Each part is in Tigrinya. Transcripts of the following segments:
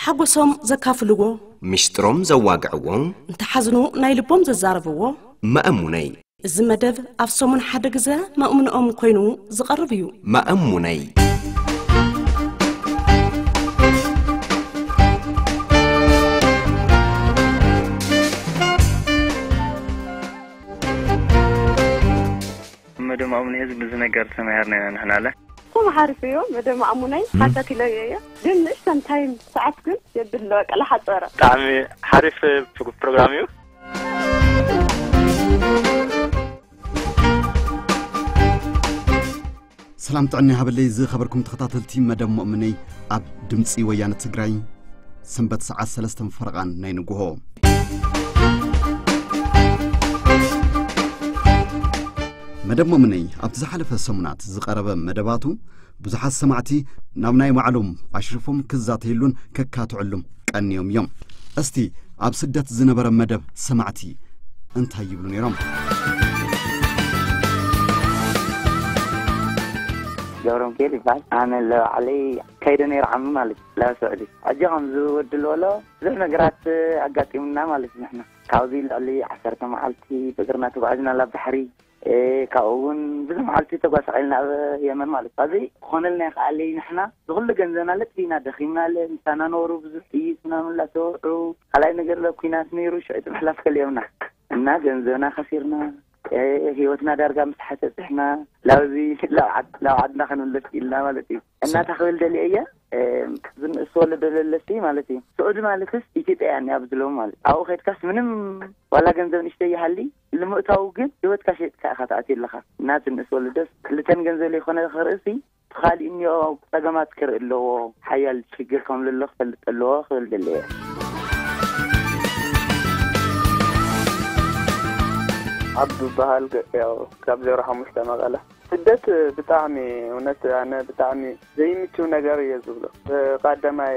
ሓጎሶም ዘካፍልዎ፣ ሚስጥሮም ዘዋግዕዎ፣ እንተሓዝኑ ናይ ልቦም ዘዛረብዎ፣ መእሙነይ። እዚ መደብ ኣብ ሰሙን ሓደ ግዘ መእሙንኦም ኮይኑ ዝቐርብ እዩ። መእሙነይ። መደብ መእሙነይ ህዝብ ብዙ ነገር ተማሂርና ኢና ንሕና ኣለ። እቶም ሓሪፍ እዮ፣ መደብ መእሙነይ ሓታቲለዮ እየ። ግን ንእሽተን ታይም ሰዓት ግን የብሎ፣ በቃ፣ ለሓጸረ። ብጣዕሚ ሓሪፍ ፕሮ-፣ ፕሮግራም እዩ። ሰላም ጥዕና ይሃበለይ ዝኸበርኩም ተኸታተልቲ መደብ ሙእምነይ ኣብ ድምፂ ወያነ ትግራይ ሰንበት ሰዓት ሰለስተን ፈረቓን ናይ ንግሆ። መደብ ሙእምነይ ኣብቲ ዝሓለፈ ሰሙናት ዝቐረበ መደባቱ ብዙሓት ሰማዕቲ ናብ ናይ ባዕሎም ኣሽሪፎም ክዛተየሉን ከካትዕሉም ቀንዮም እዮም። እስቲ ኣብ ስደት ዝነበረ መደብ ሰማዕቲ እንታይ ይብሉ ነይሮም? ገብረ ሚካኤል ይበሃል። ኣነ ለባዕለይ ከይደ ነይረ ዓሚ ማለት እዩ፣ ላብ ስዑዲ። ሕጂ ከምዚ ወዲ ልበሎ ብዙሕ ነገራት ኣጋጢሙና ማለት እዩ። ንሕና ካብዚ ልዕሊ ዓሰርተ መዓልቲ ብእግርና ተጓዒዝና ላብ ባሕሪ። እ፣ ካብኡ እውን ብዙሕ መዓልቲ ተጓሳቒልና ኣብ የመን ማለት እዩ። ኣብዚ ክኾነልና ይኽኣለይ፣ ንሕና ዝኹሉ ገንዘብና ለጢፍና ደኺምናለ፣ ምሳና ነበሩ ብዙሕ ጥይት ምናምን ላተወዑ። ካልኣይ ነገር ለ ኩናት ነይሩ፣ ሽዑ እቲ ምሕላፍ ከልዮምና እና ገንዘብና ከሲርና፣ እ፣ ህይወትና ዳርጋ ምስ ሓተፅሕና ላብዚ ላብ ዓድ-፣ ላብ ዓድና ክንምለስ ኢልና ማለት እዩ። እና ሳ- ታኽብል ደልየ እየ፣ እ፣ ዝንእስ ወለዶ ለለሲ ማለት እዩ። ስዑዲ ማለትስ ኢትዮጵያ እያ እኒኣ ብዝለዉ ማለት ኣብኡ ከድካስ ምንም ዋላ ገንዘብ ንእሽተይ ይሃሊ ንምእታው ግን ህይወትካ ሸይጥካ ኢኻ ትኣትዮ ኣለኻ። እና ዝንእስ ወለዶስ ክልተን ገንዘብ ለይኮነ ክርእሲ እቲ ካሊእ እኒኦ ጸገማት ክርኢ ኣለዎ። ሓያል ሽግር ከም ዘሎ ክፈልጥ ኣለዎ ክብል ደለየ። ዓብዱ በሃል ገ-፣ ያው ካብ ዜሮ ሓሙሽተ መቐለ። ስደት ብጣዕሚ እውነት ኣነ ብጣዕሚ ዘይምችው ነገር እየ ዝብሎ። ቀዳማይ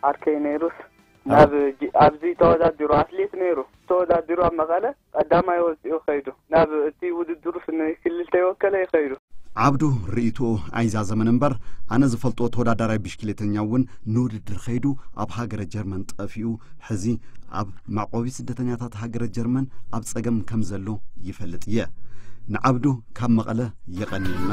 ዓርከይ ነይሩስ ናብ ጂ-፣ ኣብዚ ተወዳዲሩ ኣትሌት ነይሩ። ተወዳዲሩ ኣብ መቐለ ቀዳማይ ወፂኡ ከይዱ። ናብ እቲ ውድድሩ ስኒ ክልተ ይወከለ ይኸይዱ። ዓብዱ ርእይትኡ ኣይዛዘመን እምበር፣ ኣነ ዝፈልጦ ተወዳዳራይ ብሽክሌተኛ እውን ንውድድር ከይዱ ኣብ ሃገረ ጀርመን ጠፊኡ፣ ሕዚ ኣብ መዕቆቢ ስደተኛታት ሃገረ ጀርመን ኣብ ጸገም ከም ዘሎ ይፈልጥ እየ። ንዓብዱ ካብ መቐለ የቐንየልና።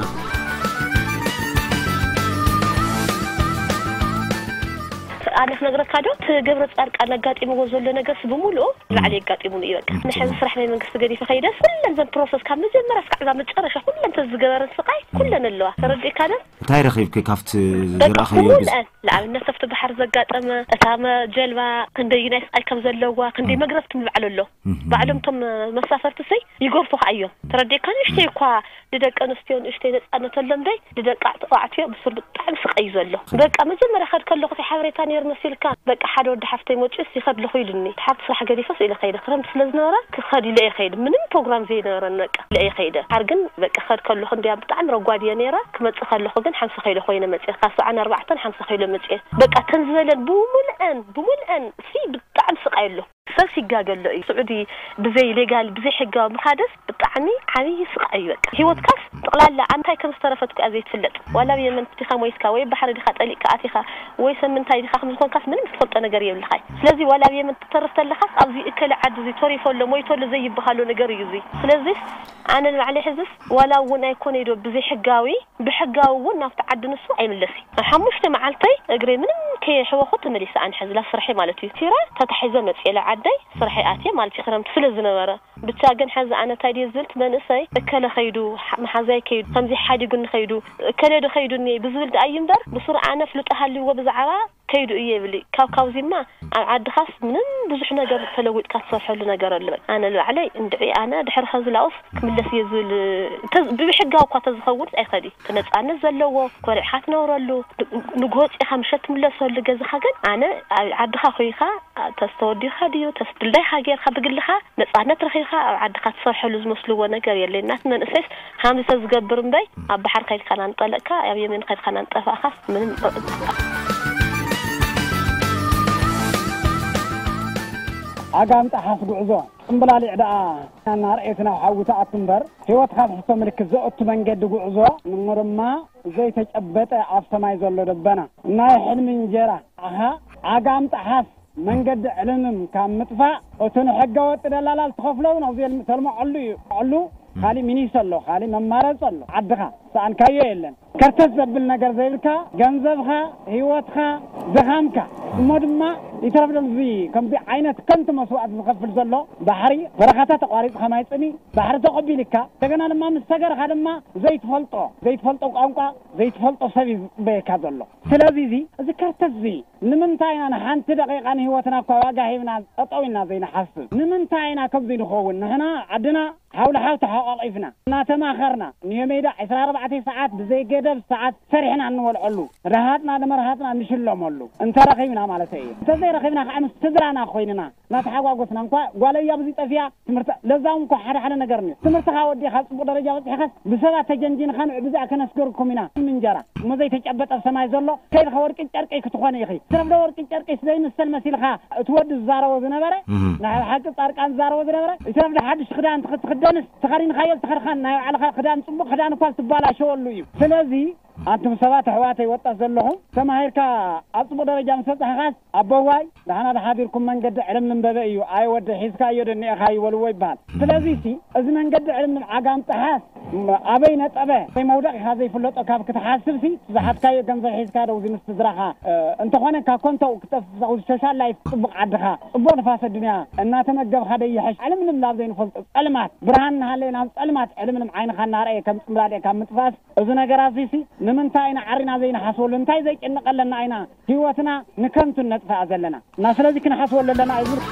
ኣነ ክነግረካ ዶ፣ እቲ ገብረ ጻድቃን ኣጋጢምዎ ዘሎ ነገርስ ብምሉኡ ንባዕሉ የጋጢሙኒ እዩ። በቃ፣ ንሕዚ ስራሕ ናይ መንግስቲ ገዲፈ ከይደስ፣ ኩለን ዘን ፕሮሰስ ካብ መጀመርያ እስካዕ እዛ መጨረሻ ኩለን ተዝገበረን ስቃይ ኩለን ኣለዋ። ተረዲእካ ዶ? እንታይ ረኺብኪ ካብቲ በቃ፣ ዝረኣኽዮ? ብዝ- ብሙሉአን፣ ንኣብነት ኣብቲ ባሕሪ ዘጋጠመ፣ እታ መ-፣ ጀልባ ክንደይ ናይ ስቃይ ከም ዘለዋ፣ ክንደይ መግረፍቲ ምባዕሉ ኣሎ። ባዕሎም እቶም መሳፈርቲ ሰይ ይገርፉኻ እዮም። ተረዲእካ፣ ንእሽተይ እኳ ንደቂ ኣንስትዮ ንእሽተይ ነጻነት ኣሎ እምበይ፣ ንደቂ ተባዕትዮ ብሱር ብጣዕሚ ስቃይ እዩ ዘሎ። በቃ፣ መጀመርያ ከድ ከለኹ እቲ ሓበሬታ ነይሩ መሲልካ፣ በቃ፣ ሓደ ወዲ ሓፍተይ መጪኡስ ይኸድ ኣለኹ ኢሉኒ። እቲ ሓብቲ ስራሕ ገዲፈስ ኢለ ከይደ፣ ክረምቲ ስለ ዝነበረ ክኸድ ኢለ እየ ከይደ። ምንም ፕሮግራም ዘይነበረን፣ በቃ፣ ኢለ እየ ከይደ። ሓር ግን፣ በቃ፣ ከድ ከለኹ እንዲያ ብጣዕሚ ረጓድ እየ ነይረ። ክመጽእ ከለኹ ግን ሓምሳ ኪሎ ኮይነ መጽየ። ካብ ሰብዓን ኣርባዕተን ሓምሳ ኪሎ መጽየ። በቃ፣ ተን ዝበለን ብሙልአን፣ ብሙልአን ሲ ብጣዕሚ ስቃይ ኣሎ። ሰብ ሲጋገ ኣሎ እዩ። ስዑዲ ብዘይ ሌጋል፣ ብዘይ ሕጋዊ ምኻድስ ብጣዕሚ ዓብዪ ስቃይ እዩ። በቃ፣ ህይወትካስ ጠቕላላ እንታይ ከም ዝተረፈት እኮ እያ ዘይትፍለጥ። ዋላ ኣብ የመን ዲኻ ሞይትካ፣ ወይ ባሕሪ ዲኻ ጠሊቕካ ኣቲኻ፣ ወይ ሰብ ምንታይ ዲኻ ከም ዝኾንካስ ምንም ዝትፈልጦ ነገር የብልኻይ። ስለዚ ዋላ ኣብ የመን ትተርፍ ተለኻስ ኣብዚ እከለ ዓዲ እዚ ተሪፎ ኣሎ፣ ሞይቶ ኣሎ ዘይበሃሎ ነገር እዩ እዚ። ስለዚስ ኣነ ንባዕለይ ሕዝስ ዋላ እውን ኣይኮነይ ዶ ብዘይ ሕጋዊ፣ ብሕጋዊ እውን ናብቲ ዓዲ ንሱ ኣይምለስይ። ኣብ ሓሙሽተ መዓልተይ እግረይ ምንም ከየሕወኹ ተመሊሰ ኣነ ሕዚ ላብ ስርሐይ ማለት እዩ። ቲራ ተታሒዘ መፅኤ ላብ ዓደይ ስርሐይ ኣትየ ማለት እዩ። ክረምቲ ስለ ዝነበረ ብቻ ግን ሕዚ ኣነ እንታይ ድየ ዝብል እቲ መንእሰይ እከለ ከይዱ፣ ሓ-፣ መሓዛይ ከይዱ፣ ከምዚ ሓዲጉኒ ከይዱ፣ እከለ ዶ ከይዱኒ ብዝብል ደኣ እዩ እምበር ብሱር ኣነ ፍልጦ ሃልይዎ ብዛዕባ ከይዱ እየ ይብል። ካብ ካብዚማ ኣብ ዓድኻስ ምንም ብዙሕ ነገር ተለዊጥካ ትሰርሐሉ ነገር ኣሎ። ኣነ ንባዕለይ እንድዒ ኣነ ድሕሪ ኸዚ ላኡስ ክምለስ እየ ዝብል። እንተ-፣ ብሕጋዊ እኳ ተዝኸውን ኣይኸዲ። እቲ ነጻነት ዘለዎ፣ ኮሪዕኻ ትነብረሉ፣ ን-፣ ንግሆ ወጺእኻ ምሸት ትምለሰሉ ገዛኻ ግን ኣነ ኣብ ዓድኻ ኮይንካ ተስተወዲኻ ድዩ፣ ተስድልዳይኻ ጌርካ ብግልኻ ነጻነት ረኺብካ ኣብ ዓድኻ ትሰርሐሉ ዝመስልዎ ነገር የለይ። እናት መንእሰይስ ሃምዚ ተዝገብር እምበይ፣ ኣብ ባሕሪ ከይድካ ናንጠለቅካ፣ ኣብ የመን ከይድካ ናንጠፋእካስ ምንም። ዓጋም ጠሓስ ጉዕዞ፣ ጽምብላሊዕ ደኣ እናርኤት ናብ ሓዊ ትኣቱ እምበር፣ ህይወትካ ትሕቶ ምልክት ዘእቱ መንገዲ ጉዕዞ፣ ንምርማ ዘይተጨበጠ ኣብ ሰማይ ዘሎ ደበና፣ ናይ ሕልሚ እንጀራ፣ ኣሃ፣ ዓጋም ጠሓስ መንገዲ ዕልምም ካብ ምጥፋእ፣ እቲ ንሕገ ወጥ ደላላ ዝተኸፍሎ እውን ኣብዚ ተልምዐሉ እዩ። ዕሉ ካሊእ ሚኒስ ኣሎ፣ ካሊእ መማረፂ ኣሎ። ዓድኻ ሰኣንካዮ የለን። ከርተት ዘብል ነገር ዘይብልካ፣ ገንዘብኻ፣ ህይወትካ፣ ድኻምካ፣ እሞ ድማ ይተረፍ ዶ እዚ ከምዚ ዓይነት ከንቱ መስዋእቲ ዝኸፍል ዘሎ ባሕሪ፣ በረኻታት ተቋሪፅካ ማይ ፅሚ፣ ባሕሪ ተቐቢልካ፣ እንደገና ድማ ምስ ሰገርካ ድማ ዘይትፈልጦ፣ ዘይትፈልጦ ቋንቋ፣ ዘይትፈልጦ ሰብ እዩ ዝፅበየካ ዘሎ። ስለዚ እዚ፣ እዚ ከርተት እዚ ንምንታይ ኢና ንሓንቲ ደቂቃ ንህይወትና እኳ ዋጋ ሂብና ጠጠው ኢልና ዘይንሓስብ? ንምንታይ ኢና ከምዚ ንኸውን? ንሕና ዓድና ሓው ንሓው ተሓቋቒፍና፣ እናተማኸርና፣ ንዮ ሜዳ ዕስራ ኣርባዕተ ሰዓት ብዘይ ገደብ ሰዓት ሰሪሕና እንበልዐሉ፣ ረሃጥና ንመርሃጥና እንሽለመሉ፣ እንተረኺብና ማለት እዩ። እንተዘይረኺብና ከዓ ምስ ስድራና ኮይንና እናተሓጓጎስና፣ እንኳ ጓለይ ኣብዚ ጠፊኣ፣ ትምህርቲ ለዛውን እኮ ሓደ ሓደ ነገር እዩ። ትምህርትኻ ወዲኻ ጽቡቕ ደረጃ በጺሕኻስ ብሰባት ተጀንጂንኻ ንዕ ብዚኣ ከነስገርኩም ኢና። እንጀራ እሞ ዘይተጨበጠ ኣብ ሰማይ ዘሎ ከይድኻ ወርቂ ጨርቂ ክትኾኒ ኢኺ። ትረፍዶ ወርቂ ጨርቂ ዘይምሰል መሲልካ እቲ ወዲ ዝዛረቦ ዝነበረ፣ እህ። ናይ ሓቂ ጻድቃን ዝዛረቦ ዝነበረ፣ እቲ ረፍዶ ሓድሽ ክዳን ትኽ-፣ ትኽደንስ ተኸዲንካዮ ዝተኸድካን ናይ ባዕልኻ ክዳን ጽቡቕ ክዳን እኳ ዝተባላሸወሉ እዩ። ስለዚ ኣንቱም ሰባት ኣሕዋተይ ወጣት ዘለኹም ተማሂርካ ኣብ ጽቡቕ ደረጃ ምስ በጻሕኻስ ኣቦዋይ ደሓና ደሓዲርኩም መንገዲ ዕልም ልንበበ እዩ። ኣይ ወዲ ሒዝካዮ ደኒእኻ ይበልዎ ይበሃል። ስለዚ ሲ እዚ መንገዲ ዕልም ዓጋም ጠሓስ ም-፣ ኣበይ ነጠበ ወይ መውደቕ ኢኻ ዘይፍለጦ ካብ ክትሓስብ ሲ ዝሓዝካዮ ገንዘብ ሒዝካ ደው እዚ ምስ ስድራኻ፣ እ፣ እንተኾነ ካብ ኮንተው ክጠፍእ ሶሻል ላይፍ ጽቡቕ ዓድኻ ጽቡቕ ንፋሰ ዱንያ እናተመገብካ ደይሕሽ ዕልም ልም ናብ ዘይንፈልጦ ጸልማት ብርሃን እናሃለየ ናብ ጸልማት ዕልም ልም ዓይንኻ እናረእየ ከም ጽምብላሊዕ ካብ ምጥፋስ እዚ ነገራት እዚ ሲ ንምንታይ ኢና ዓሪና ዘይንሓስበሉ? እንታይ ዘይጭንቀለና ኢና ህይወትና ንከንቱ ነጥፍኣ ዘለና? እና ስለዚ ክንሓስበሉ ኣለና እዩ ዝብል።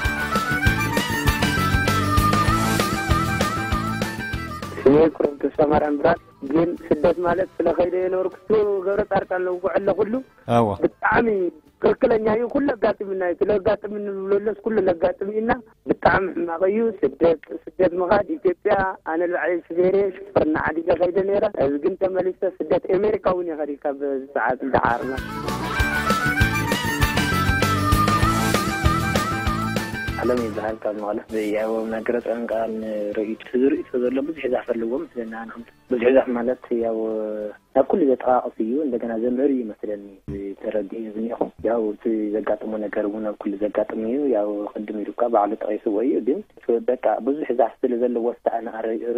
ስሜ ኩረም ተስፋ ማርያም ብራስ። ግን ስደት ማለት ስለ ከይደ የነበርኩ እሱ ገብረ ጻድቃን ለውቁ ዕለ ኩሉ ኣዋ። ብጣዕሚ ትክክለኛ እዩ። ኩሉ ኣጋጥምና እዩ። ስለ ኣጋጥምኒ ንብለሎስ ኩሉ ነጋጥም ኢና። ብጣዕሚ ሕማቕ እዩ። ስደት፣ ስደት ምኻድ ኢትዮጵያ፣ ኣነ ንባዕለይ ስቤሬ ሽፍርና ዓዲገ ከይደ ነይረ። እዚ ግን ተመሊሰ ስደት ኣሜሪካ እውን እየ ከዲካ በዚ ሰዓት እንዳሓርና። ዓለም ይበሃል ካብ መቐለ። ያው መግረፀን ቃል ርእይቶ፣ እዚ ርእይቶ ዘሎ ብዙሕ ዛፍ ኣለዎ ምስለና ንክምት ብዙሕ ዛፍ ማለት ያው ናብ ኩሉ ዘጠቃቅስ እዩ፣ እንደገና ዘምህር እዩ መስለኒ ተረዲኡ ዝኒኹ። ያው እቲ ዘጋጥሞ ነገር እውን ኣብ ኩሉ ዘጋጥም እዩ። ያው ቅድም ኢሉ እኳ ባዕሉ ጠቂስዎ እዩ፣ ግን በቃ ብዙሕ ዛፍ ስለ ዘለዎ ስተ ኣነ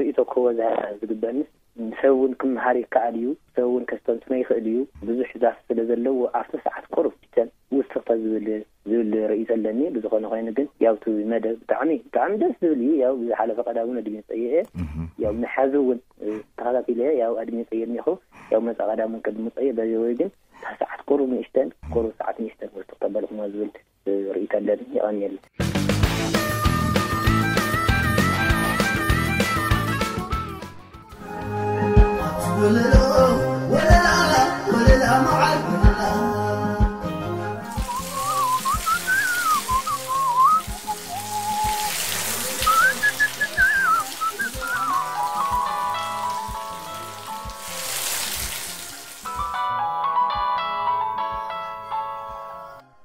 ርእይቶ ክህቦ ዝግበኒ ሰብ እውን ክመሃር ይከኣል እዩ፣ ሰብ እውን ከስተንትኖ ይኽእል እዩ። ብዙሕ ዛፍ ስለ ዘለዎ ኣብቲ ሰዓት ቁሩብ ስተን ውስኽ ተዝብል ዝብል ርእይቶ ኣለኒ። ብዝኾነ ኮይኑ ግን ያው እቲ መደብ ብጣዕሚ፣ ብጣዕሚ ደስ ዝብል እዩ። ያው ብዝሓለፈ ቀዳም እውን ኣድሚፀዮ እየ። እህ። ያው ንሓዚ እውን፣ እ፣ ተኸታቲለ ያው ኣድሚፀዮ እኒኹ። ያው መፃ ቀዳም እውን ቅድሚ ምፀዮ በዚ ወይ ግን እታ ሰዓት ቁሩብ ንእሽተን፣ ቁሩብ ሰዓት ንእሽተን ውስኽ ተበልኩሞ ዝብል፣ እ፣ ርእይቶ ኣለኒ። የቐንየለይ።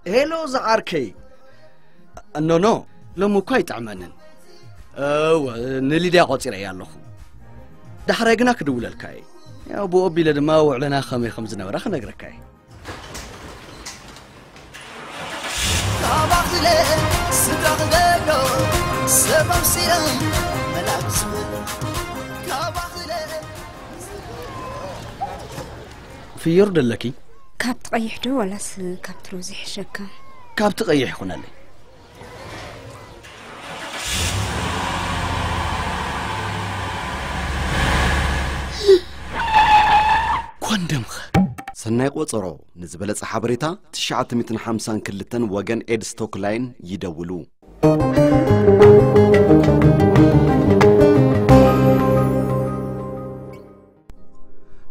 ሄሎ ዝዓርከይ። ኖኖ፣ ሎሚ እኳ ኣይጥዕመንን። እወ፣ ንሊድያ ቆጺረያ ኣለኹ። ዳሕራይ ግና ክድውለልካ እየ። ያው ብኡ ኣቢለ ድማ ውዕለና ከመይ ከም ዝነበረ ክነግረካ እየ። ካባኽለ ስድራ ክገዶ ሰብ ኣምሲለ መላክ ዝብል ካባኽለ ፍዮር ደለኪ? ካብቲ ቀይሕ ዶ ዋላስ ካብቲ ሮዝ ይሕሸካ? ካብቲ ቀይሕ ይኹነለይ። ኮንደምኸ? ሰናይ ቆጸሮ። ንዝበለጸ ሓበሬታ ትሽዓተ ሚእትን ሓምሳን ክልተን ወገን ኤድስ ቶክላይን ይደውሉ።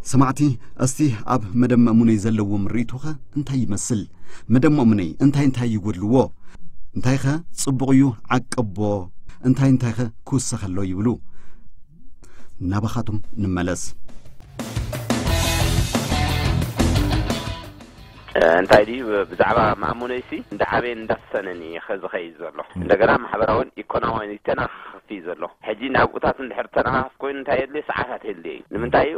ሰማዕቲ፣ እስቲ ኣብ መደብ መእሙነይ ዘለዎም ርእይቶኸ እንታይ ይመስል? መደብ መእሙነይ እንታይ እንታይ ይጎድልዎ? እንታይኸ ጽቡቕ እዩ ዓቀቦ? እንታይ እንታይኸ ክውሰኸ ኣሎ ይብሉ? ናባኻቶም ንመለስ። እንታይ ድዩ ብዛዕባ መእሙነይሲ እንዳዓበየን እንዳሰነን እዩ ዝኸይድ ዘሎ። እንደገና ማሕበራውን ኢኮኖሚያውን ይተናኽ እዩ ዘሎ። ሕጂ ናብኡታት እንድሕር ተነኻኽፍ ኮይኑ እንታይ የድልዮ? ሰዓታት የድልዮ እዩ። ንምንታይ እዩ?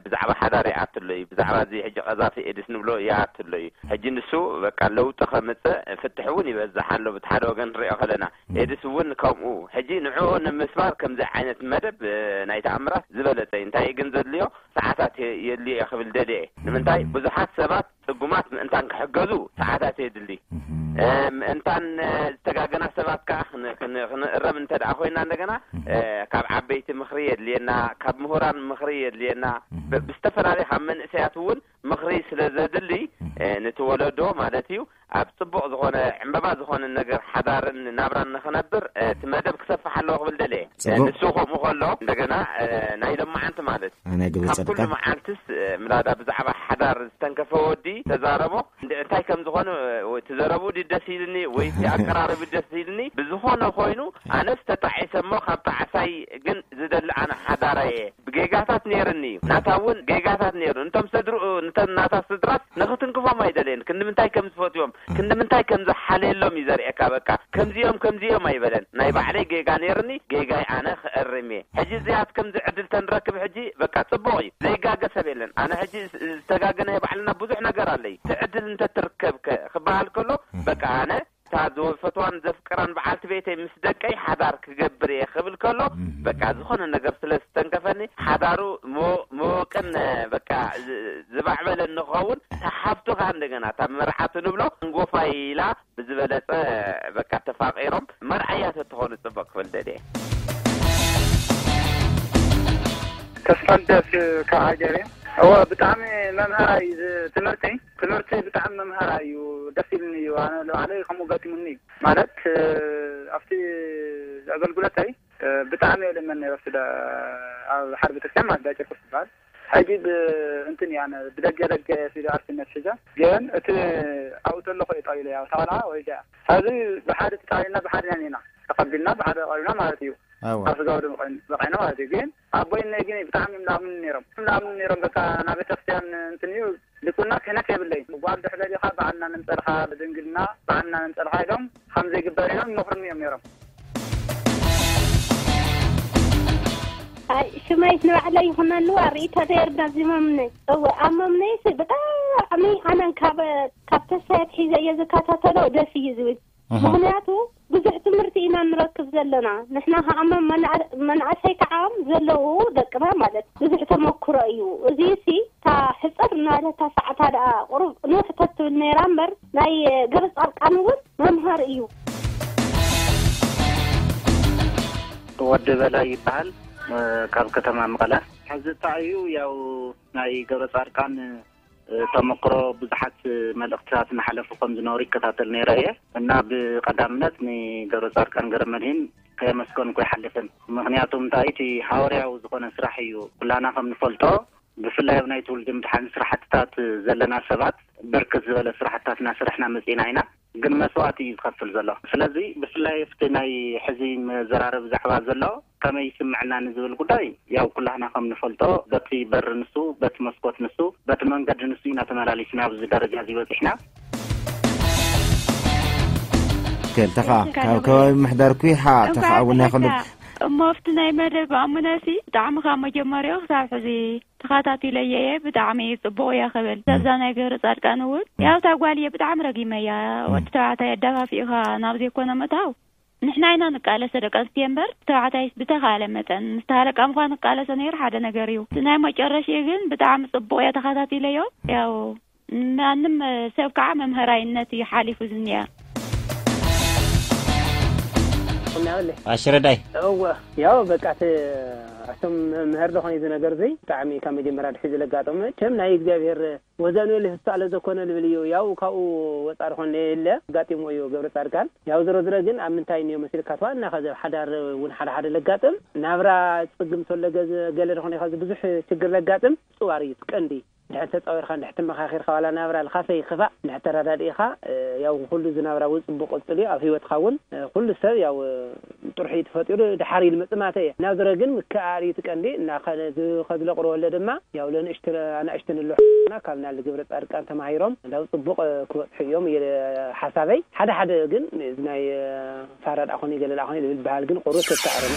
ብዛዕባ ሓዳር ይኣትሎ እዩ። ብዛዕባ እዚ ሕጂ ቀዛፊ ኤድስ ንብሎ ይኣትሎ እዩ። ሕጂ ንሱ በቃ ለውጢ ከምፅእ ፍትሕ እውን ይበዝሕ ኣሎ። ብቲ ሓደ ወገን ንሪኦ ከለና ኤድስ እውን ከምኡ። ሕጂ ንዕኡ ንምስባር ከምዚ ዓይነት መደብ ናይ ተኣምራት ዝበለፀ እዩ። እንታይ ግን ዘድልዮ? ሰዓታት የድልዮ ክብል ደልየ። ንምንታይ ብዙሓት ሰባት ፅጉማት ምእንታን ክሕገዙ ሰዓታት የድሊ። ምእንታን ዝተጋገና ሰባት ከዓ ክንእረም እንተ ደኣ ኮይና እንደገና ካብ ዓበይቲ ምኽሪ የድልየና፣ ካብ ምሁራን ምኽሪ የድልየና። ብዝተፈላለየ ካብ መንእሰያት እውን ምኽሪ ስለ ዘድሊ ነቲ ወለዶ ማለት እዩ ኣብ ፅቡቕ ዝኾነ ዕምበባ ዝኾነ ነገር ሓዳርን ናብራን ንኽነብር እቲ መደብ ክሰፍሕ ኣለዎ ክብል ደልየ። ንሱ ከምኡ ከሎ እንደገና ናይ ሎማዓንቲ ማለት ናይ ግብሪ ካብ ኩሉ ጸድቃን መዓልትስ ምላዳ ብዛዕባ ሓዳር ዝተንከፈ ወዲ ተዛረቦ እንታይ ከም ዝኾነ እቲ ዘረቡ ደስ ኢልኒ ወይ እቲ ኣቀራረቢ ደስ ኢልኒ ብዝኾነ ኮይኑ ኣነስ ተጣዒሰ እሞ ካብ ጣዕሳይ ግን ዝደሊ ኣነ ሓዳራየ ብጌጋታት ነይርኒ እዩ። ናታ እውን ጌጋታት ነይሩ። እንቶም ስድርኡ፣ እንተን ናታ ስድራስ ንኽትንክፎም ኣይደለየን። ክንዲ ምንታይ ከም ዝፈትዎም፣ ክንዲ ምንታይ ከም ዝሓልየሎም እዩ ዘርእየካ። በቃ ከምዚኦም ከምዚኦም ኣይበለን። ናይ ባዕለይ ጌጋ ነይርኒ፣ ጌጋይ ኣነ ክእርም እየ። ሕጂ እዚኣት ከምዚ ዕድል ተንረክብ ሕጂ በቃ ጽቡቕ እዩ። ዘይጋገ ሰብ የለን። ኣነ ሕጂ ዝተጋገናዮ ባዕልና ብዙሕ ነገር ኣለይ። እቲ ዕድል እንተትርከብከ ክበሃል ከሎ በቃ ኣነ እታ ዝፈትዋን ዘፍቅራን በዓልቲ ቤተይ ምስ ደቀይ ሓዳር ክገብር እየ ክብል ከሎ በቃ ዝኾነ ነገር ስለ ዝተንከፈኒ ሓዳሩ መወቅን በቃ ዝባዕበለ ንኸውን ተሓፍቱ ከዓ እንደገና እታ መርዓቱ ንብሎ እንጎፋይ ኢላ ብዝበለፀ በቃ ተፋቂሮም መርዓያ ተትኾኑ ፅቡቅ ክብል ደልየ። ተስፋልደስ ካብ ሃገር እየ። እወ ብጣዕሚ መምሃራይ ትምህርቲ ትምህርቲ ብጣዕሚ መምሃራይ እዩ። ደስ ኢልኒ እዩ። ኣነ ንባዕለይ ከምኡ ገጢሙኒ እዩ። ማለት ኣብቲ ኣገልግሎተይ ብጣዕሚ እየ ልመን ነይረ። ስለ ኣብ ሓደ ቤተክርስትያን ማለት ዳጨርቆስ ዝበሃል ሕጂ እንትን እያ ብደገ ደገ ሲሉ ኣርትነት ሒዛ ግን እቲ ኣብኡ ተለኹ እየ ጠቢለ ያው ተቐልዓ ወሪዳ እያ። ሕዚ ብሓደ ተጣቢልና ብሓደ ኢና ተቐቢልና ብሓደ ቀቢልና ማለት እዩ። ኣብ ስጋ ወደሙ በቂዕና ማለት እዩ። ግን ኣቦይ እነይ ግን ብጣዕሚ እዮም ላምኑ ነይሮም ላምኑ ነይሮም። በቃ ናብ ቤተክርስትያን እንትን እዩ ልኩና ክህነት የብለይን። ጓል ድሕደር ኢኻ በዓልና ነምፀልኻ ብድንግልና በዓልና ነምፀልኻ ኢሎም ከም ዘይግበር ኢሎም ይመኽሩኒ እዮም ነይሮም። ሽመይት ንባዕለይ ይኹነሉ ኣርእቶ ነይር ዳዚሞምኒ እወ ኣሞምኒ ብጣዕሚ ኣነን ካብ ካብ ተስፋ ኣትሒዘ እየ ዝከታተሎ ደስ እዩ ዝብል። ምኽንያቱ ብዙሕ ትምህርቲ ኢና ንረክብ ዘለና። ንሕና ከዓ መናእሰይ ከዓ ዘለዉ ደቅና ማለት ብዙሕ ተመክሮ እዩ። እዚ ሲ እታ ሕፅር እናበለታ ሰዓታ ደኣ ቁሩብ ንውሕ ተትብል ነይራ እምበር ናይ ገረ ፃርቃን እውን መምሃሪ እዩ። ወዲ በላይ ይበሃል ካብ ከተማ መቐለ። ሕዚ እታ እዩ ያው ናይ ገብረ ፃርቃን ተመክሮ ብዙሓት መልእኽትታት እናሓለፉ ከም ዝነበሩ ይከታተል ነይረ እየ እና ብቐዳምነት ንገብረ ፃድቃን ገረመድህን ከየመስገንኩ ኣይሓልፍን። ምኽንያቱ እንታይ እቲ ሃዋርያዊ ዝኾነ ስራሕ እዩ። ኩላና ከም ንፈልጦ ብፍላይ ኣብ ናይ ትውልዲ ምድሓን ስራሕትታት ዘለና ሰባት ብርክት ዝበለ ስራሕትታት እናሰራሕና መፂእና ኢና። ግን መስዋእቲ እዩ ዝኸፍል ዘሎ። ስለዚ ብፍላይ ኣብቲ ናይ ሕዚ መዘራረቢ ዛዕባ ዘሎ ከመይ ይስምዐና ንዝብል ጉዳይ ያው ኩላህና ከም ንፈልጦ በቲ በሪ ንሱ፣ በቲ መስኮት ንሱ፣ በቲ መንገዲ ንሱ ኢና ተመላሊስና ኣብዚ ደረጃ እዚ በፂሕና። ከልተኻ ካብ ከባቢ ምሕዳር ኩይሓ ተኸዓ እውን ናይ ከሉ እሞ ኣብቲ ናይ መደብ ኣሙነሲ ብጣዕሚ ካብ መጀመሪያኡ ክሳብ ሕዚ ተኻታቲለየ እየ። ብጣዕሚ እዩ ጽቡቕ እያ ክብል። እዛ ናይ ገብረ ጻድቃን እውን ያው እታ ጓል እየ ብጣዕሚ ረጊመያ። ወዲ ተባዕታይ ኣዳፋፊእኻ ናብ ዘይኮነ ምእታው ንሕና ኢና ንቃለሰ ደቂ ኣንስትዮ እምበር ተባዕታይስ ብተኻለ መጠን ምስ ተሃለቃ ምዃን ንቃለሰ ነይሩ ሓደ ነገር እዩ። እቲ ናይ መጨረሽኡ ግን ብጣዕሚ ጽቡቕ እየ ተኻታቲለዮ። ያው ማንም ሰብ ከዓ መምህራይነት እዩ ሓሊፉ ዝኒኣ። ኣሽረዳይ እወ ያው በቃ እቲ ኣቶም መምህር ዝኾነ እዚ ነገር እዚ ብጣዕሚ ካብ መጀመርያ ድሕሪ ዝለጋጠሙ መቸም ናይ እግዚኣብሔር ወዘኑ ልህሳ ለዘኮነ ልብል እዩ። ያው ካብኡ ወፃ ዝኾነ የለ ኣጋጢሞ እዩ ገብረ ፃድቃን። ያው ዝሮ ዝረ ግን ኣብ ምንታይ እንዮ መሲልካ ተዋና ከዚ ኣብ ሓዳር እውን ሓደ ሓደ ለጋጥም ናብራ ፅግም ተሎ ገለ ዝኾነ ከዚ ብዙሕ ችግር ለጋጥም ፅዋር እዩ ቀንዲ እንድሕር ተጻዊርካ፣ እንድሕር ተመኻኺርካ፣ ዋላ ናብራ ልኻፈ ይኽፋእ፣ እንድሕር ተረዳዲእካ፣ እ፣ ያው ኩሉ ዝናብራ እውን ጽቡቕ ቅጽል እዩ። ኣብ ህይወትካ እውን፣ እ፣ ኩሉ ሰብ ያው፣ እ፣ ጥርሑ እዩ ተፈጢሩ፣ ድሓር ኢሉ መጽእ ማተ እየ። ናብ ዝረ ግን ምክእኣል እዩ እቲ ቀንዲ። እና ከ-፣ እዚ ከዝለቕርበሎ ድማ ያው ለንእሽተ-፣ ኣናእሽተን ኣለዉ ሓና ካብ ናል ግብረ ጻድቃን ተማሂሮም ናብ ጽቡቕ፣ እ፣ ክበጽሑ እዮም እየ ሓሳበይ። ሓደ ሓደ ግን እዚ ናይ፣ እ፣ ፋራ ደኣ ኾነ ገለ ደኣ ኾነ ዝብል በሃል ግን ቁሩብ ተተኣረመ።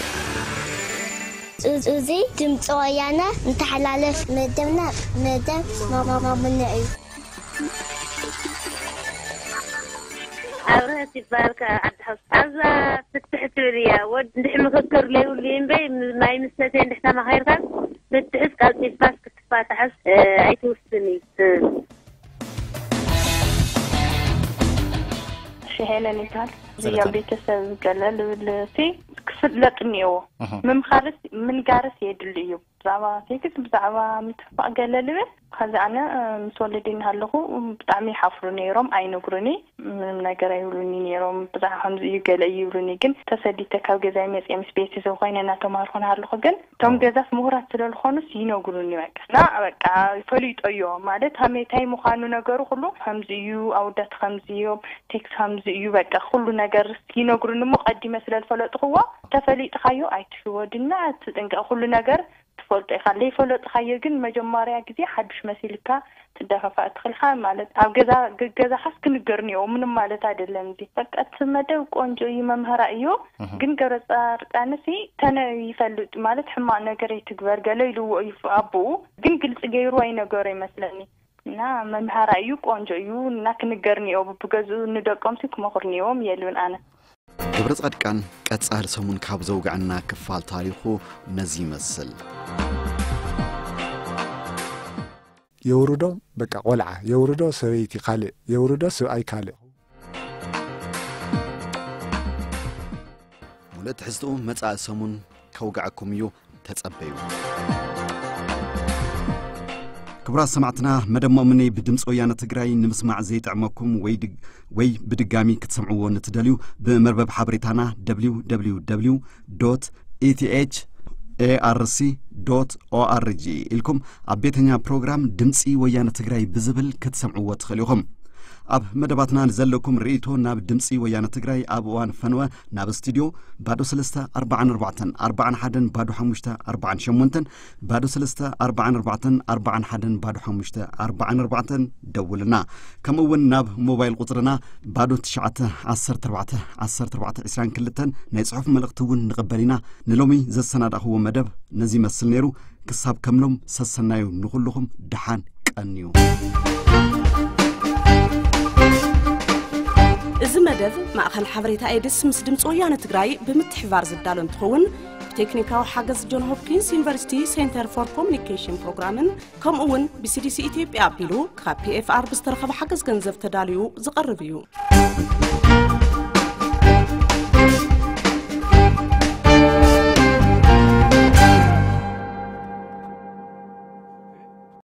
እዚ ድምፂ ወያነ እንተሓላለፍ መደብና መደብ ማማሙነ እዩ። ኣብርሀት ይበሃል፣ ካብ ዓዲ ሓውሲ። ኣብዛ ፍትሕ ትብል እያ። ወድ እንድሕ ምክክር ለይብሉ እዩ እምበይ፣ ም-፣ ማይ ምስ ሰተየ እንድሕ ተማኺርካ፣ ፍትሕስ ቀልጢፍካስ ክትፋታሕስ፣ እ፣ ኣይትውስን እዩ። እ። ሽሄለን ይበሃል። ሰላም። እዚኦም ቤተሰብ ገለ ልብል ሲ ክፍለጥ እኒኦዎ። እህ። ምምኻርስ ምንጋርስ የድሊ እዩ። ብዛዕባ ሴክስ፣ ብዛዕባ ምትፋቕ ገለ ልብል። ከዚ ኣነ፣ እ፣ ምስ ወለዲ እናሃለኹ ብጣዕሚ ይሓፍሩ ነይሮም፣ ኣይነግሩኒ፣ ምንም ነገር ኣይብሉኒ ነይሮም። ብዛዕባ ከምዚ እዩ ገለ እዩ ይብሉኒ፣ ግን ተሰዲተ ካብ ገዛይ መፅየ ምስ ቤተሰብ ኮይነ እናተማሃርኩ እናሃለኹ ግን እቶም ኦ። ገዛስ ምሁራት ስለ ዝኾኑስ ይነግሩኒ በቃ። እና በቃ ይፈልጦ እዮ ማለት ሃሜታይ ምዃኑ ነገሩ ኩሉ ከምዚ እዩ፣ ኣወዳት ከምዚ እዮም፣ ቴክስ ከምዚ እዩ፣ በቃ ኩሉ ነገር ይነግሩኒ እሞ ቀዲመ ስለ ዝፈለጥኽዎ ተፈሊጥኻዮ ኣይትሽወድና፣ ትጥንቀቕ፣ ኩሉ ነገር ትፈልጦ ኢኻ። ዘይፈለጥኻዮ ግን መጀመርያ ግዜ ሓዱሽ መሲልካ ትደፋፋእ ትኽልካ ማለት ኣብ ገዛ ገዛኻስ ክንገር እኒኦ ምንም ማለት ኣይደለም። እዚ በቃ እቲ መደብ ቆንጆ እዩ፣ መምህራ እዩ። እህ። ግን ገብረ ጻድቃንሲ ተነ ይፈልጥ ማለት ሕማቕ ነገር ይትግበር ገለ ኢልዎ እዩ ኣቦኡ፣ ግን ግልጺ ገይሩ ኣይነገሮ ይመስለኒ። እና መምሃራ እዩ፣ ቆንጆ እዩ እና ክንገር እኒኦ ብገዝኡ ንደቆምሲ ክመኽሩ እኒኦም የልብን ኣነ። ገብረ ጻድቃን ቀጻሊ ሰሙን ካብ ዘውግዐና ክፋል ታሪኹ ነዚ ይመስል። የውርዶ በቃ ቆልዓ፣ የውርዶ ሰበይቲ ካልእ፣ የውርዶ ሰብኣይ ካልእ። ሙሉእ ትሕዝትኡ መጻኢ ሰሙን ከውግዐኩም እዩ፣ ተጸበዩ። ክቡራት ሰማዕትና፣ መደብ ማሙነይ ብድምፂ ወያነ ትግራይ ንምስማዕ ዘይጥዕመኩም ወይ ድግ-፣ ወይ ብድጋሚ ክትሰምዕዎ ንትደልዩ፣ ብመርበብ ሓበሬታና ደብሊው ደብሊው ደብሊው ዶት ኢቲኤች ኤኣርሲ ዶት ኦኣርጂ ኢልኩም ኣብ ቤተኛ ፕሮግራም ድምፂ ወያነ ትግራይ ብዝብል ክትሰምዕዎ ትኽእሉ ኢኹም። ኣብ መደባትና ንዘለኩም ርእይቶ ናብ ድምፂ ወያነ ትግራይ ኣብ እዋን ፈንወ ናብ ስቱድዮ ባዶ ሰለስተ ኣርባዓን ኣርባዕተን ኣርባዓን ሓደን ባዶ ሓሙሽተ ኣርባዓን ሸሞንተን፣ ባዶ ሰለስተ ኣርባዓን ኣርባዕተን ኣርባዓን ሓደን ባዶ ሓሙሽተ ኣርባዓን ኣርባዕተን ደውልና። ከምኡ እውን ናብ ሞባይል ቁፅርና ባዶ ትሽዓተ ዓሰርተ ኣርባዕተ ዓሰርተ ኣርባዕተ ዕስራን ክልተን ናይ ጽሑፍ መልእኽቲ እውን ንቕበል ኢና። ንሎሚ ዘሰናዳእኽዎ መደብ ነዚ ይመስል ነይሩ። ክሳብ ከምሎም ሰሰናዩ ንኹልኹም ደሓን ቀንዩ። እዚ መደብ ማእኸል ሓበሬታ ኤድስ ምስ ድምፂ ወያነ ትግራይ ብምትሕብባር ዝዳሎ እንትኸውን፣ ብቴክኒካዊ ሓገዝ ጆን ሆፕኪንስ ዩኒቨርሲቲ ሴንተር ፎር ኮሙኒኬሽን ፕሮግራምን ከምኡ እውን ብሲዲሲ ኢትዮጵያ ኣቢሉ ካብ ፒኤፍኣር ብዝተረኸበ ሓገዝ ገንዘብ ተዳልዩ ዝቐርብ እዩ።